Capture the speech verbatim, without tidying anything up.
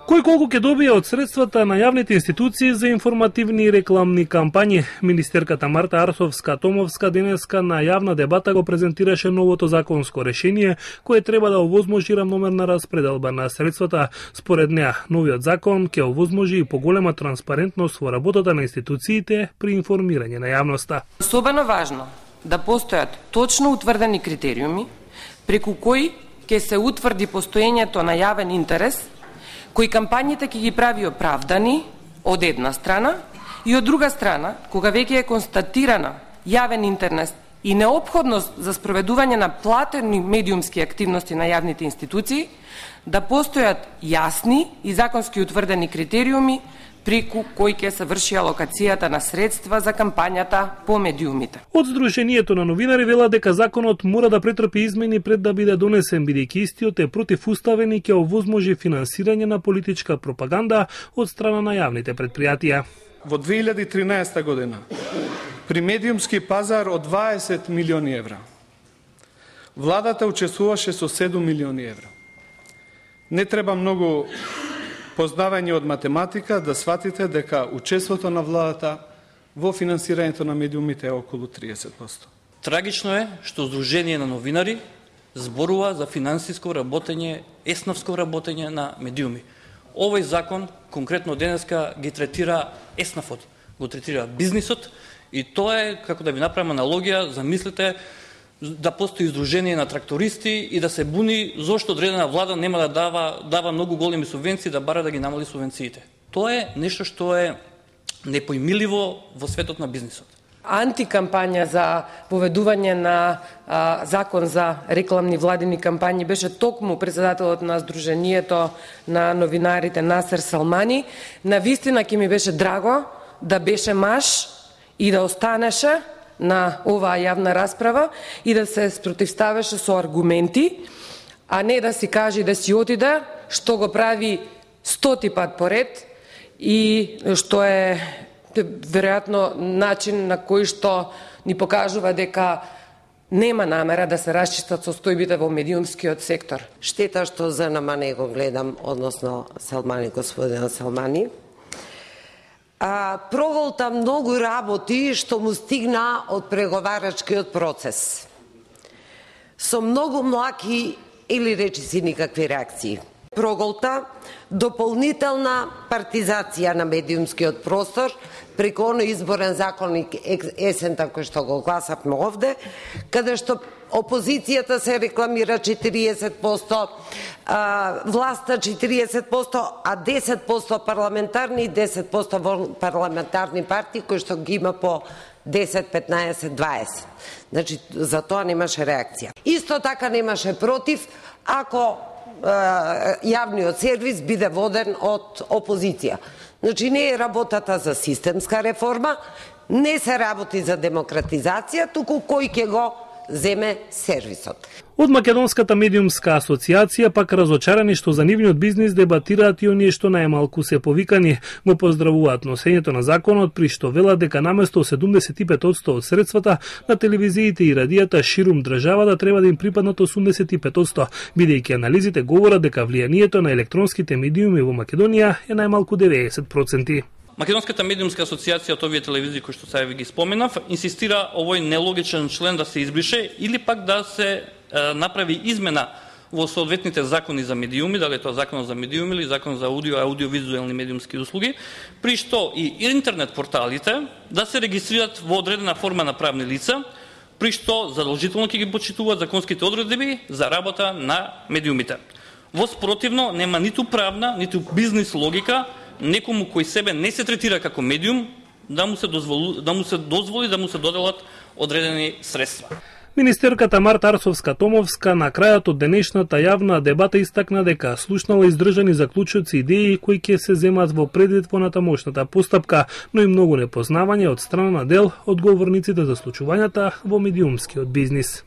Кој колку ќе добие од средствата на јавните институции за информативни и рекламни кампањи? Министерката Марта Арсовска-Томовска денеска на јавна дебата го презентираше новото законско решение кое треба да овозможи рамномерна распределба на средствата. Според неа, новиот закон ќе овозможи и поголема транспарентност во работата на институциите при информирање на јавноста. Особено важно да постојат точно утврдени критериуми преку кои ќе се утврди постоењето на јавен интерес, кои кампањите ќе ги прави оправдани од една страна и од друга страна, кога веќе е констатирана јавен интерес и неопходност за спроведување на платени медиумски активности на јавните институции, да постојат јасни и законски утврдени критериуми преку кои ќе се врши алокацијата на средства за кампањата по медиумите. Од Сдруженијето на новинари вела дека законот мора да претрпи измени пред да биде донесен, бидејќи истиот е противуставен и ќе овозможи финансирање на политичка пропаганда од страна на јавните предпријатија. Во две илјади и тринаесета година при медиумски пазар од дваесет милиони евра владата учествуваше со седум милиони евра. Не треба многу познавање од математика да сватите дека учеството на владата во финансирањето на медиумите е околу триесет проценти. Трагично е што Сдружение на новинари зборува за финансиско работење, еснафско работење на медиуми. Овој закон конкретно денеска ги третира еснафот, го третира бизнисот и тоа е, како да ви направам аналогија, замислете да постои Сдружение на трактористи и да се буни зошто одредена влада нема да дава дава многу големи субвенции, да бара да ги намали субвенциите. Тоа е нешто што е непоимиливо во светот на бизнисот. Антикампања за поведување на а, закон за рекламни владини кампањи беше токму председателот на Сдруженијето на новинарите Насер Салмани. Навистина ќе ми беше драго да беше маж и да останеше на оваа јавна расправа и да се спротивставеше со аргументи, а не да си каже да си отиде, што го прави стоти пат поред и што е веројатно начин на кој што ни покажува дека нема намера да се расчистат состојбите во медиумскиот сектор. Штета што за нама не го гледам, односно Салмани, господин Салмани. А, проголта многу работи што му стигна од преговарачкиот процес. Со многу млаки или речиси никакви реакции. Проголта дополнителна партизација на медиумскиот простор преку оној изборен законник есента кој што го гласавме овде, каде што опозицијата се рекламира четириесет проценти, а, власта четириесет проценти, а десет проценти парламентарни и десет проценти парламентарни партии кои што ги има по десет, петнаесет, дваесет. Значи, за тоа немаше реакција. Исто така немаше против ако јавниот сервис биде воден од опозиција. Значи, не е работата за системска реформа, не се работи за демократизација, туку кој ќе го земе сервисот. Од Македонската медиумска асоциација пак разочарани што за нивниот бизнис дебатираат и оние што најмалку се повикани. Го поздравуваат носењето на законот, при што велат дека наместо седумдесет и пет проценти од средствата на телевизиите и радијата ширум државата треба да им припаднат осумдесет и пет проценти, бидејќи анализите говорат дека влијанието на електронските медиуми во Македонија е најмалку деветдесет проценти. Македонската медиумска асоциација од овие телевизии кои што сега ви ги споменав, инсистира овој нелогичен член да се избрише или пак да се е, направи измена во соодветните закони за медиуми, дали е тоа законот за медиуми или закон за аудио, аудиовизуелни медиумски услуги, при што и интернет порталите да се регистрираат во одредена форма на правни лица, при што задолжително ќе ги почитуваат законските одредби за работа на медиумите. Во спротивно нема ниту правна, ниту бизнис логика некому кој себе не се третира како медиум да му се дозволи да му се дозволи да му се доделат одредени средства. Министерката Марта Арсовска-Томовска на крајот од денешната јавна дебата истакна дека слушнала издржани заклучоци идеи кои ќе се земат во предвид во натамошната постапка, но и многу непознавање од страна на дел одговорниците за случувањата во медиумскиот бизнис.